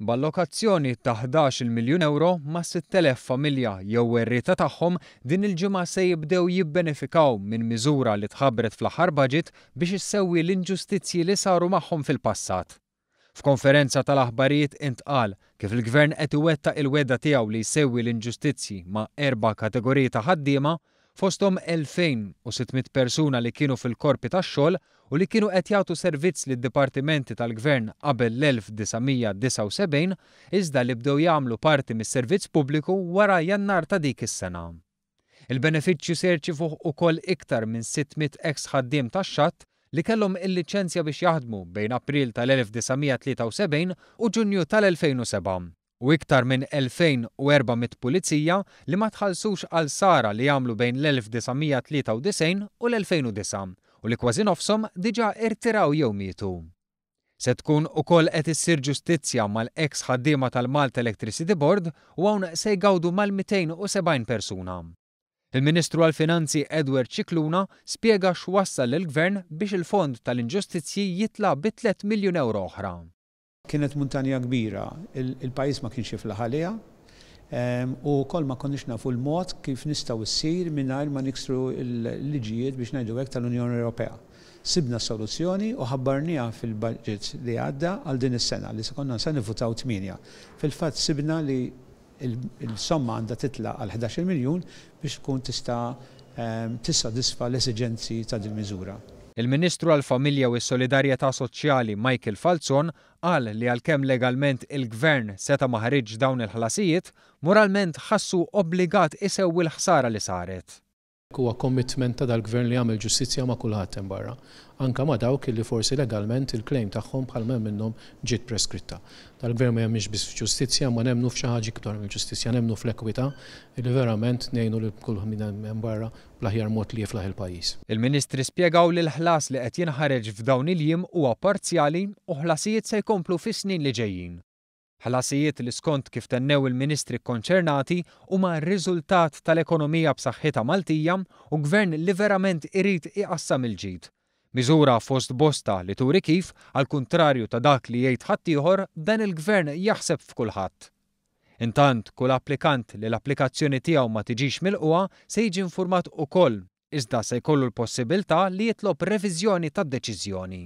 B'allokazzjoni ta' 11-il miljun ewro, mas-6,000 familja jew werrieta tagħhom din il-ġimgħa se jibdew jibbenefikaw minn miżura li tħabbret fl-aħħar budget biex issewwi l-inġustizzji li saru magħhom fil-passat. F'konferenza tal-aħbarijiet intqal kif il-Gvern qed iwettaq il-wegħda tiegħu li jsewwi l-inġustizzji ma' erba' kategoriji ta' ħaddiema, fosthom 2,600 persuna li kienu fil-korpi tax-xogħol u li kienu qed jagħtu servizz lid-dipartimenti tal-Gvern qabel l-1979 iżda li bdew jagħmlu parti mis-servizz pubbliku wara Jannar ta' dik is-sena. Il-benefiċċju se jirċivuh ukoll iktar minn 600 eks ħaddiem tax-xatt li kellhom il-liċenzja biex jaħdmu bejn April tal-1973 u Ġunju tal-2007. u iktar minn 2,400 pulizija li ma tħallsux għal sara li għamlu bejn l-1993 u l-2009 u li kważi nofshom diġà irtiraw jew mietu. Se tkun ukoll qed issir ġustizzja mal-eks ħaddiema tal-Malta Electricity Board u hawn se jgawdu mal-270 persuna. Il-Ministru għall-Finanzi Edward Scicluna spjega x'wassal lill-Gvern biex il-fond tal-inġustizzji jitla' bi 3 miljun ewro oħra. Kienet muntanja kbira, il-pajjiż ma kienx jiflaħ għaliha u wkoll ma konniex nafu l-mod kif nistgħu ssir mingħajr ma niksru l-liġijiet biex ngħidu hekk tal-Unjoni Ewropea. Sibna s-soluzzjoni u ħabbarniha fil-budget li għadda għal din is-sena li se konna se nivvutaw tmienja. Fil-fatt sibna li Il-somma għandha titla' għal 11-il miljun biex tkun tista' tissodisfa l-esiġenzi ta' din miżura. Il-Ministru għall-Familja u s-Solidarjetà Soċjali Michael Falzon qal li għalkemm legalment il-Gvern seta' ma ħariġx dawn il-ħlasijiet, moralment ħassu obbligat isewwi l-ħsara li saret. Huwa commitment ta' dal-Gvern li jagħmel ġustizzja ma' kulħadd hemm barra, anke ma' dawk illi forsi legalment il-claim tagħhom bħal ma hemm minnhom ġiet preskritta. Dal-Gvern ma jemminx biss f'ġustizzja imma nemmnu f'xi ħaġa iktar mill-ġustizzja, nemmnu fl-ekwità illi verament ngħinu lil kull min hemm barra bl-aħjar mod li jiflaħ il-pajjiż. Il-Ministri spjegaw li l-ħlas li qed jinħareġ f'dawn il-jiem huwa parzjali u ħlasijiet se jkomplu fis-snin li ġejjin. Ħlasijiet li skont kif tennew il-Ministri kkonċernati huma r-riżultat tal-ekonomija b'saħħitha Maltija u Gvern li verament irid iqassam il-ġid. Miżura fost bosta li turi kif, għall-kuntrarju ta' dak li jgħid ħaddieħor, dan il-Gvern jaħseb f'kulħadd. Intant, kull applikant li l-applikazzjoni tiegħu ma tiġix milqugħa se jiġi infurmat ukoll, iżda se jkollu l-possibiltà li jitlob reviżjoni tad-deċiżjoni.